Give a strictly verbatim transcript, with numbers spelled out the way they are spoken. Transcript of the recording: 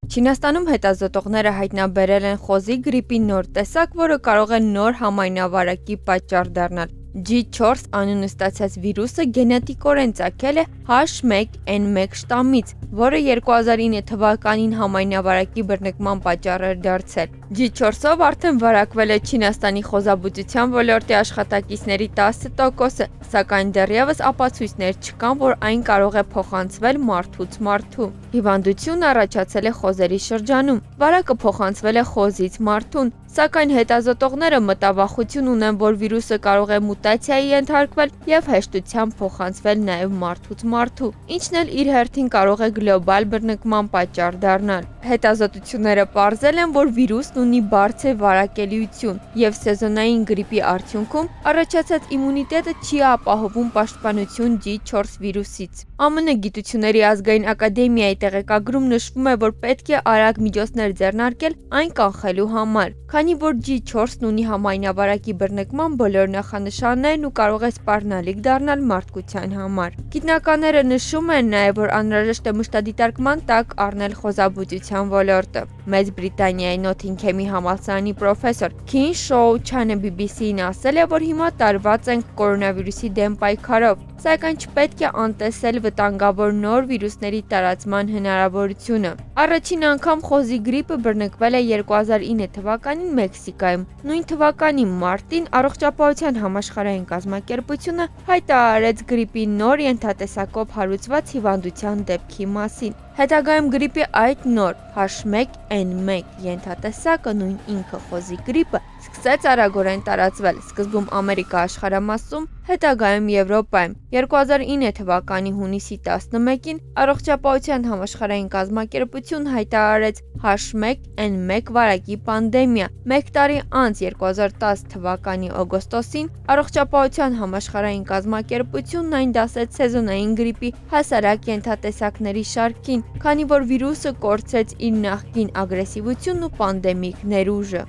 Չինաստանում հետազոտողները հայտնաբերել են խոզի գրիպի նոր տեսակ, որը կարող է նոր համայնավարակի պատճառ դառնալ։ G four անունը ստացած վիրուսը գենետիկորեն ծագել է H one N one շտամից, որը երկու հազար ինը թվականին համայնավարակի բռնկման պատճառ էր դարձել։ G four-ով արդեն վարակվել է Չինաստանի խոզաբուծության ոլորտի աշխատակիցների տասը տոկոսը, սակայն դեռևս ապացույցներ չկան, որ այն կարող է փոխանցվել մարդուց մարդու։ Հիվանդությունը առաջացել է խոզերի շրջանում, վարակը փոխանցվել է խոզից մարդուն, սակայն հետազոտողները մտավախություն ունեն, որ վիրուսը կարող է մուտացիայի ենթարկվել եւ հեշտությամբ փոխանցվել նաեւ մարդուց մարդու, ինչն էլ իր հերթին կարող է գլոբալ բռնկման պատճառ դառնալ։ Հետազոտությունները պարզել են, որ վիրուսն ունի բարձր վարակելիություն եւ սեզոնային գրիպի արդյունքում առաջացած իմունիտետը չի ապահովում պաշտպանություն G four վիրուսից։ ԱՄՆ Գիտությունների ազգային ակադեմիայի տեղեկագրում նշվում է, որ պետք է արագ միջոցներ ձեռնարկել այն կանխելու համար, քանի որ G four-ն ունի համայնավարակի բռնկման բոլոր նախանշաններն ու կարող է սպառնալիք դառնալ մարդկության համար։ Գիտնականները նշում են նաև, որ անհրաժեշտ է մշտադիտարկման տակ առնել խոզաբուծության ոլորտը։ Մեծ Բրիտանիայի Նոթինգհեմի համալսարանի պրոֆեսոր Քին Շոու Չանը B B C-ին ասել է, որ հիմա տարված ենք կորոնավիրուսի դեմ պայքարով, սակայն չպետք է անտեսել վտանգավոր նոր վիրուսների տարածման հնարավորությունը։ Առաջին անգամ խոզի գրիպը բռնկվել է երկու հազար ինը թվականին Մեքսիկայում։ Նույն թվականի մարտին Առողջապահության համաշխարհային կազմակերպությունը հայտարարեց գրիպի նոր ենթատեսակով հարուցված հիվանդության դեպքի մասին։ Հետագայում գրիպի այդ նոր H one N one ենթատեսակը, նույն ինքը խոզի գրիպը, սկսեց արագորեն տարածվել, սկզբում Ամերիկա աշխարհամասում, հետագայում Եվրոպայում։ երկու հազար ինը թվականի հունիսի տասնմեկին Առողջապահության համաշխարհային կազմակերպություն հայտարարեց H one N one վարակի պանդեմիա։ Մեկ տարի անց երկու հազար տասը թվականի օգոստոսին Առողջապահության համաշխարհային կազմակերպությունն այն դասեց սեզոնային գրիպի հասարակ ենթատեսակների շարքին, քանի որ վիրուսը կորցրեց իր նախկին ագրեսիվությունն ու պանդեմիկ ներուժը։